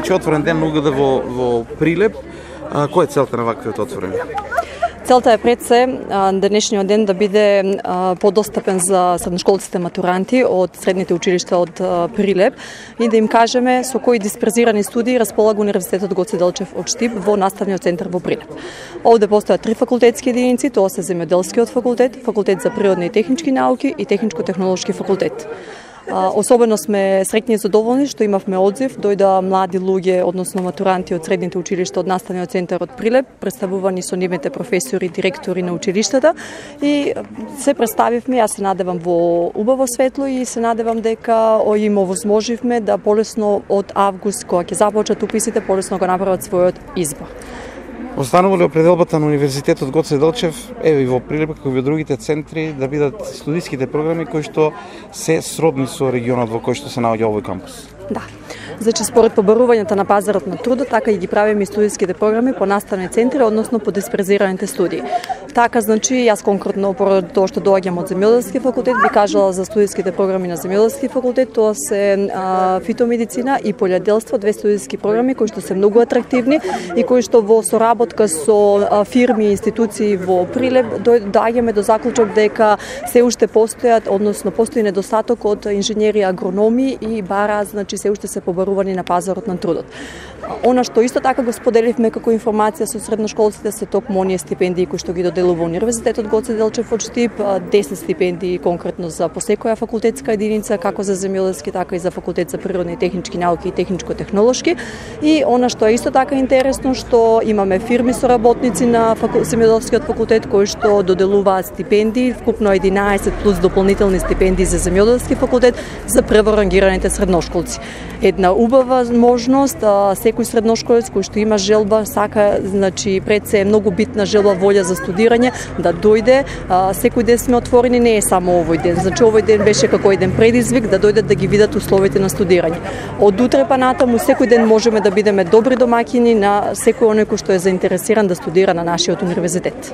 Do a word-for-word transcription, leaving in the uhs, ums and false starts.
Значи отворен ден на УГД во во Прилеп. А, која е целта на ваквиот отворени? Целта е пред се денешниот ден да биде подостапен за средношколците матуранти од средните училишта од Прилеп и да им кажеме со кои дисперзирани студии располага Универзитетот Гоце Делчев од Штип во наставниот центар во Прилеп. Овде постојат три факултетски единици, тоа се земјоделскиот факултет, факултет за природни и технички науки и техничко-технолошки факултет. Особено сме среќни и задоволни што имавме одзив, дојда млади луѓе, односно матуранти од средните училишта од наставниот центар од Прилеп, представувани со нивните професори, директори на училиштата и се представивме, јас се надевам во убаво светло и се надевам дека им овозможивме да полесно од август, кога ќе започнат уписите, полесно го направат својот избор. Останува ли определбата на Универзитетот Гоце Делчев, еве и во Прилеп, како и во другите центри, да бидат студиските програми кои што се сродни со регионот во кој што се наоѓа овој кампус? Да. Значи, според побарувањата на пазарот на трудот, така и ги правиме и студиските програми по наставни центри, односно по дисперзираните студии. Така, значи, јас конкретно, поради тоа што доаѓам од земјоделски факултет, би кажала за студиските програми на земјоделски факултет, тоа се а, фитомедицина и полјоделство, две студиски програми кои што се многу атрактивни и кои што во соработка со а, фирми и институции во Прилеп доаѓаме до заклучок дека се уште постојат, односно постои недостаток од инженери, агрономи и бара, значи се уште се побарувани на пазарот на трудот. Она што исто така го споделивме како информација со средношколците се токму оние стипендии кои што ги доделува Универзитетот Гоце Делчев од Штип, десет стипендии конкретно за по секоја факултетска единица, како за земјоделски, така и за факултет за природни и технички науки и техничко-технолошки. И она што е исто така интересно, што имаме фирми соработници на факу... земјоделскиот факултет кои што доделуваат стипендии, вкупно единаесет плюс дополнителни стипендии за земјоделски факултет за прво рангираните средношколци. Една убава можност, секој средношколец кој што има желба, сака, значи пред се е многу битна желба, волја за студирање, да дојде. Секој ден сме отворени, не е само овој ден. Значи овој ден беше како еден предизвик да дојдат да ги видат условите на студирање. Од утре па натаму секој ден можеме да бидеме добри домаќини на секој оној кој што е заинтересиран да студира на нашиот универзитет.